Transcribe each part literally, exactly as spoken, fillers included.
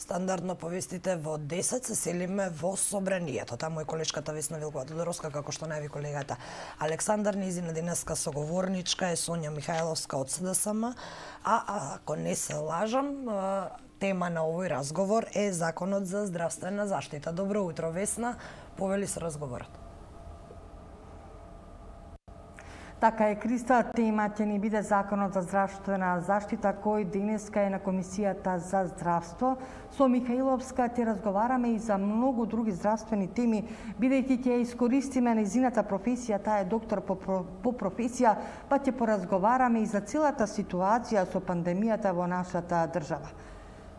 Стандардно повестите во десет се селиме во собранието. Таму е колешката Весна Вилкова-Тодоровска, како што најави колегата Александар. Низина денеска соговорничка е Сонја Михајловска од СДСМ, а ако не се лажам, тема на овој разговор е Законот за здравствена заштита. Добро утро, Весна, повели се разговорот. Така е, Криста, тема ќе ни биде Законот за здравствена заштита, кој денеска е на Комисијата за здравство. Со Михајловска ќе разговараме и за многу други здравствени теми, бидејќи ќе искористиме нејзината професија, таа е доктор по, по професија, па ќе поразговараме и за целата ситуација со пандемијата во нашата држава.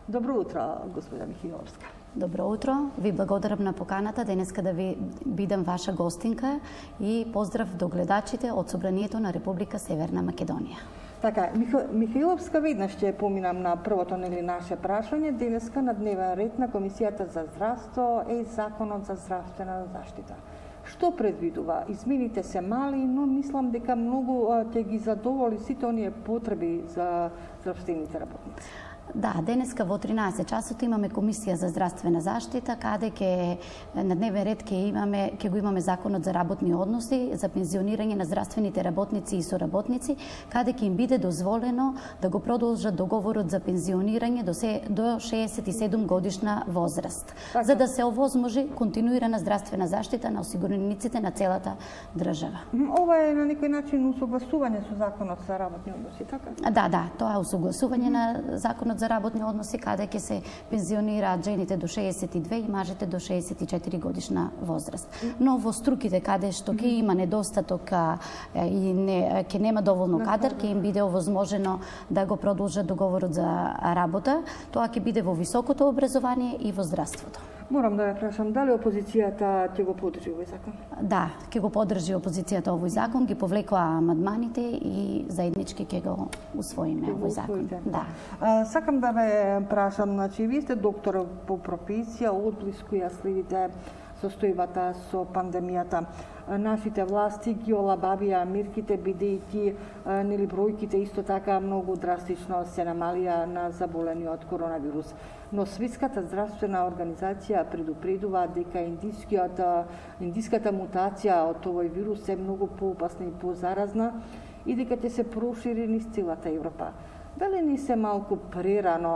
Добро утро, господа Михајловска. Добро утро, ви благодарам на поканата денеска да ви бидам ваша гостинка и поздрав до гледачите од Собранието на Република Северна Македонија. Така, Михајловска, веднаш ќе поминам на првото нели наше прашање. Денеска на дневен ред на Комисијата за здравство е Законот за здравствена заштита. Што предвидува? Измените се мали, но мислам дека многу ќе ги задоволи сите оние потреби за здравствените работници. Да, денеска во тринаесет часот имаме Комисија за здравствена заштита, каде ќе на дневен ред ќе имаме ќе го имаме Законот за работни односи, за пензионирање на здравствените работници и соработници, каде ќе им биде дозволено да го продолжат договорот за пензионирање до се до шеесет и седум годишна возраст, така, за да се овозможи континуирана здравствена заштита на осигурениците на целата држава. Ова е на некој начин усогласување со Законот за работни односи, така? Да, да, тоа е усогласување на Законот за работни односи, каде ќе се пензионираат жените до шеесет и две и мажите до шеесет и четири годишна возраст. Но во струките каде што ќе има недостаток и не ќе нема доволно кадар, ќе им биде овозможено да го продолжат договорот за работа. Тоа ќе биде во високото образование и во здравството. Морам да ја прашам, дали опозицијата ќе го поддржи овој закон? Да, ќе го поддржи опозицијата овој закон, ги повлекоа амандманите и заеднички ќе го усвоиме овој закон. Да. А, сакам да ве прашам, значи вие сте доктор по професија, одблиску ја следите состојбата со пандемијата. Нашите власти ги олабавија мерките, бидејќи нели бројките исто така многу драстично се намалија на заболени од коронавирус. Но Светската здравствена организација предупредува дека индискијата, индиската мутација од овој вирус е многу поопасна и позаразна и дека ќе се прошири низ целата Европа. Дали не се малку прерано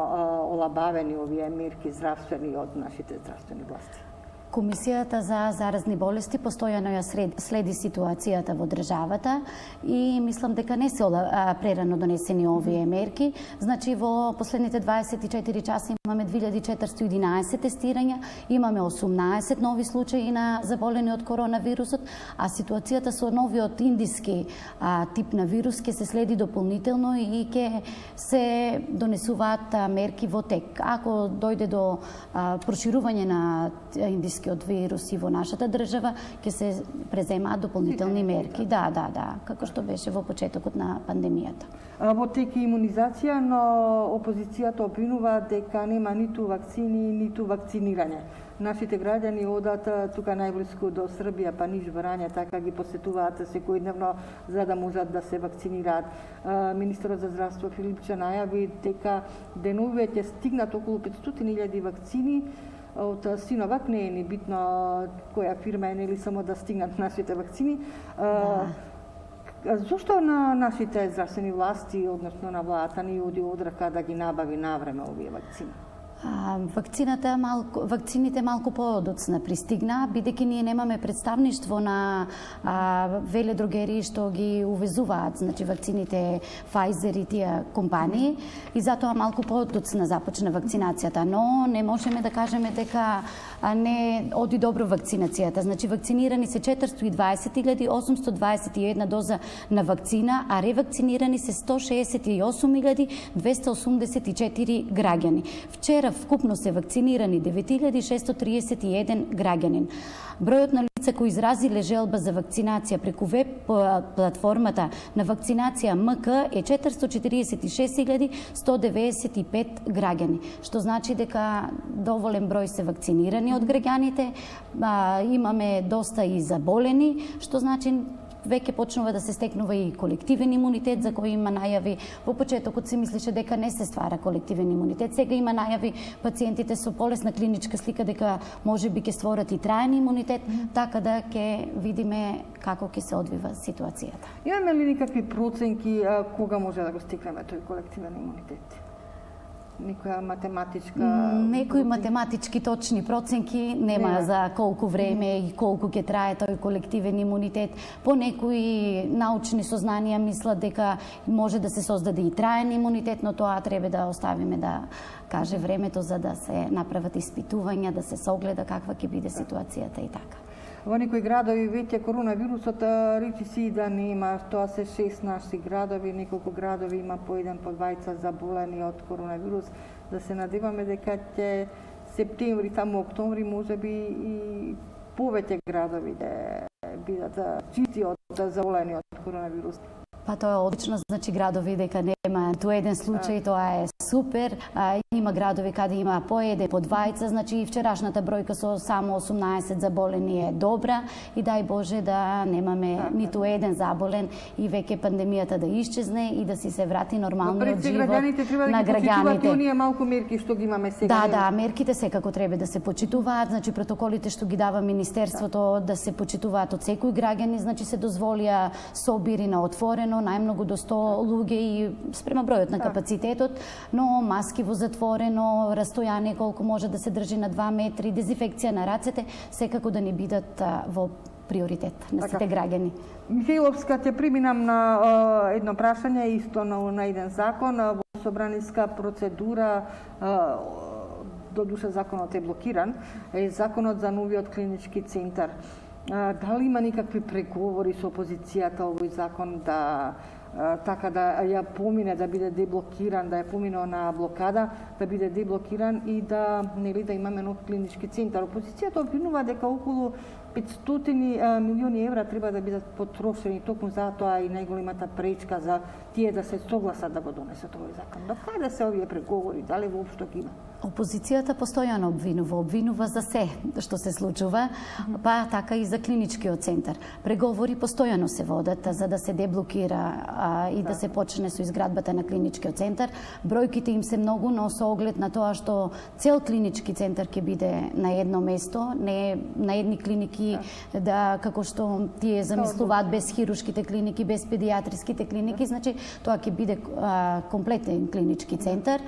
олабавени овие мерки здравствени од нашите здравствени власти? Комисијата за заразни болести постојано ја следи ситуацијата во државата и мислам дека не се прерано донесени овие мерки. Значи во последните дваесет и четири часа имаме две илјади четиристотини и единаесет тестирања, имаме осумнаесет нови случаи на заболени од коронавирусот, а ситуацијата со новиот индиски а, тип на вирус ќе се следи дополнително и ќе се донесуваат а, мерки во тек. Ако дојде до а, проширување на индиски од вируси во нашата држава, ќе се преземаат дополнителни мерки. Да, да, да, како што беше во почетокот на пандемијата. Во тек имунизација, но опозицијата обвинува дека нема ниту вакцини, ниту вакцинирање. Нашите граѓани одат тука најблиску до Србија, па Ниш, Врање, така ги посетуваат секојдневно за да можат да се вакцинираат. Министерот за здравство Филипче најави дека деновиве ќе стигнат околу петстотини илјади вакцини од Синовак, не е ни битно која фирма е, нели само да стигнат нашите вакцини. Да. Зошто на нашите здравствени власти, односно на владата, не оди од рака да ги набави навреме овие вакцини? А, вакцината малку, вакцините малку подоцна пристигна, бидејќи ние немаме представништво на а, веледрогери што ги увезуваат, значи вакцините Pfizer и тие компании, и затоа малку подоцна започна вакцинацијата, но не можеме да кажеме дека не оди добро вакцинацијата. Значи вакцинирани се четиристотини и дваесет илјади осумстотини дваесет и една доза на вакцина, а ревакцинирани се сто шеесет и осум илјади двесте осумдесет и четири граѓани. Вчера вкупно се вакцинирани девет илјади шестоста триесет и еден граѓанин. Бројот на лица кои изразиле желба за вакцинација преку веб платформата на вакцинација М К е четиристотини четиридесет и шест илјади сто деветдесет и пет граѓани, што значи дека доволен број се вакцинирани од граѓаните, а, имаме доста и заболени, што значи веќе почнува да се стекнува и колективен имунитет за кој има најави. Во почетокот се мислеше дека не се ствара колективен имунитет. Сега има најави пациентите со полесна клиничка слика дека можеби ќе створат и траен имунитет, така да ќе видиме како ќе се одвива ситуацијата. Имаме ли никакви проценки а, кога може да го стигнеме тој колективен имунитет? Некоја математичка... Некои математички точни проценки нема не. За колку време и колку ќе трае тој колективен имунитет. По некои научни сознанија мислат дека може да се создаде и траен имунитет, но тоа треба да оставиме да каже времето за да се направат испитувања, да се согледа каква ќе биде ситуацијата и така. Во некои градови веќе коронавирусот речи си да нема, тоа се шест наши градови, неколку градови има по еден по двајца заболени од коронавирус. Да се надеваме дека ќе септември, таму октомври, можеби и повеќе градови да бидат чисти од заболени од коронавирус. Па тоа е одлично, значи градови дека нема ниту еден случај, тоа е супер. А, има градови каде има по еден, по двајца, значи и вчерашната бројка со само осумнаесет заболени е добра и дај Боже да немаме така, ниту еден заболен и веќе пандемијата да исчезне и да си се врати нормалниот живот на граѓаните. Оние малку мерки што ги имаме сега. Да, да, мерките секако треба да се почитуваат, значи протоколите што ги дава Министерството да се почитуваат од секој граѓанин, значи се дозволија собири на отворено, најмногу до сто луѓе и спрема бројот на капацитетот, но маски во затворено, растојание колку може да се држи на два метри, дезинфекција на рацете, секако да не бидат во приоритет на сите граѓани. Михајловска, ќе преминам на uh, едно прашање, исто на, на еден закон. Во собраниска процедура, uh, додуша законот е блокиран, е законот за новиот клинички центар. Uh, дали има никакви преговори со опозицијата овој закон да така да ја помине, да биде деблокиран, да ја помине на блокада, да биде деблокиран и да нели да имаме нов клинички центар. Опозицијата обвинува дека околу петстотини милиони евра треба да бидат потрошени, токму затоа и најголемата пречка за тие да се согласат да го донесат овој закон. До каде се овие преговори, дали воопшто ги има? Опозицијата постојано обвинува, обвинува за се што се случува, па така и за клиничкиот центар. Преговори постојано се водат за да се деблокира а, и да. да се почне со изградбата на клиничкиот центар. Бројките им се многу, но со оглед на тоа што цел клинички центар ќе биде на едно место, не на едни клиники да, да како што тие замислуваат без хирушките клиники, без педиатриските клиники, значи тоа ќе биде а, комплетен клинички центар.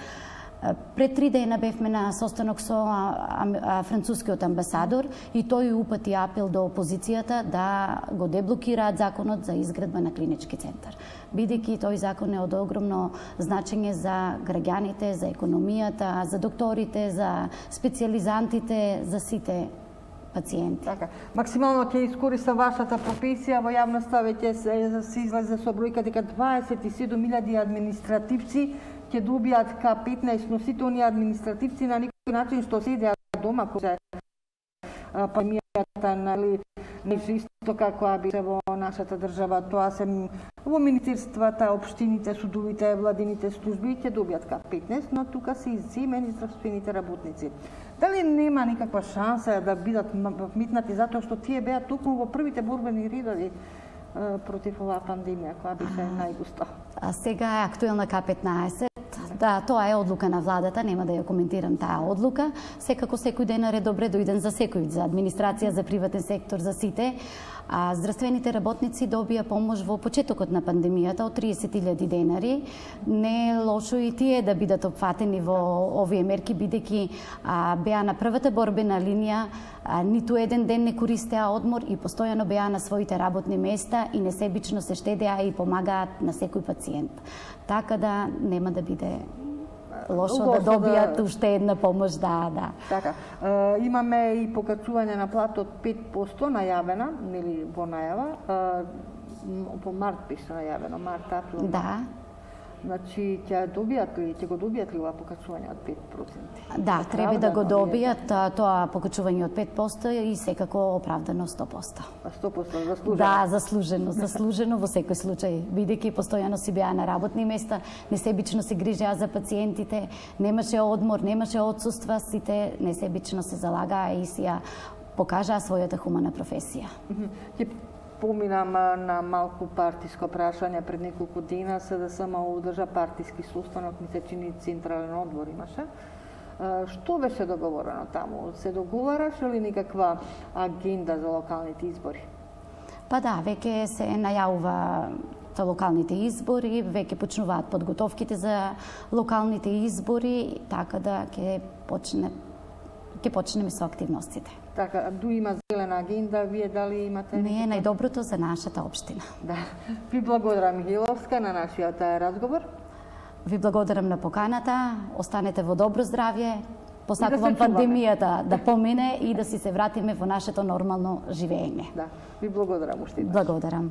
Пред три дена бевме на состанок со а, а, францускиот амбасадор и тој упати апел до опозицијата да го деблокираат законот за изградба на клинички центар. Бидејќи тој закон е од огромно значење за граѓаните, за економијата, за докторите, за специјализантите, за сите пациенти. Така, максимално ќе искористам вашата професија, во јавноста веќе се, се излезе со бројка дека дваесет и седум илјади административци ќе добијат ка петнаесет носителни административци на некој начин што седеат дома кој пандемијата, нали, не исто како би се во нашата држава. Тоа се во министерствата, општините, судовите, владините служби ќе добијат ка петнаесет, но тука се изземени здравствените работници. Дали нема никаква шанса да бидат вметнати затоа што тие беа токму во првите борбени редови против оваа пандемија која беше најгуста? А сега е актуелна ка петнаесет. Да, тоа е одлука на владата, нема да ја коментирам таа одлука. Секако секој денар е добре дојден за секој, за администрација, за приватен сектор, за сите. А здравствените работници добија помош во почетокот на пандемијата од триесет илјади денари. Не е лошо и тие да бидат опфатени во овие мерки, бидејќи беа на првата борбена линија, а, ниту еден ден не користеа одмор и постојано беа на своите работни места и несебично се штедеа и помагаат на секој пациент. Така да нема да биде лошо, лошо да добијат да... уште една помош, да, да. Така, е, имаме и покачување на платот пет проценти најавена, нели во најава, е, по март беше најавено, март, април. Да. Значи, ќе добијат ли, ќе го добијат ли ова покачување од пет проценти? Да, треба да го добијат тоа покачување од пет проценти и секако оправдано сто проценти. сто проценти заслужено? Да, заслужено, заслужено во секој случај, бидејќи постојано си беа на работни места, несебично се грижеа за пациентите, немаше одмор, немаше отсуства, сите несебично се залагаа и си ја покажаа својата хумана професија. Ќе споминам на малку партиско прашање пред неколку дена, СДСМ одржа партиски состанок, ми се чини централен одбор имаше. Што беше договорено таму? Се договараше ли никаква агенда за локалните избори? Па да, веќе се најавува за локалните избори, веќе почнуваат подготовките за локалните избори, така да ќе почне ќе почнеме со активностите. Така, ду има зелена агенда, вие дали имате? Не е најдоброто за нашата општина. Да. Ви благодарам, Михаиловска, на нашиот разговор. Ви благодарам на поканата, останете во добро здравје, посакувам да пандемијата да помине и да си се вратиме во нашето нормално живење. Да, ви благодарам уште. Благодарам.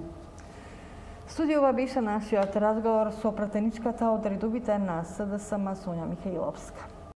Студиова беше нашиот разговор со пратеничката од редовите на СДСМ Сонја Михаиловска.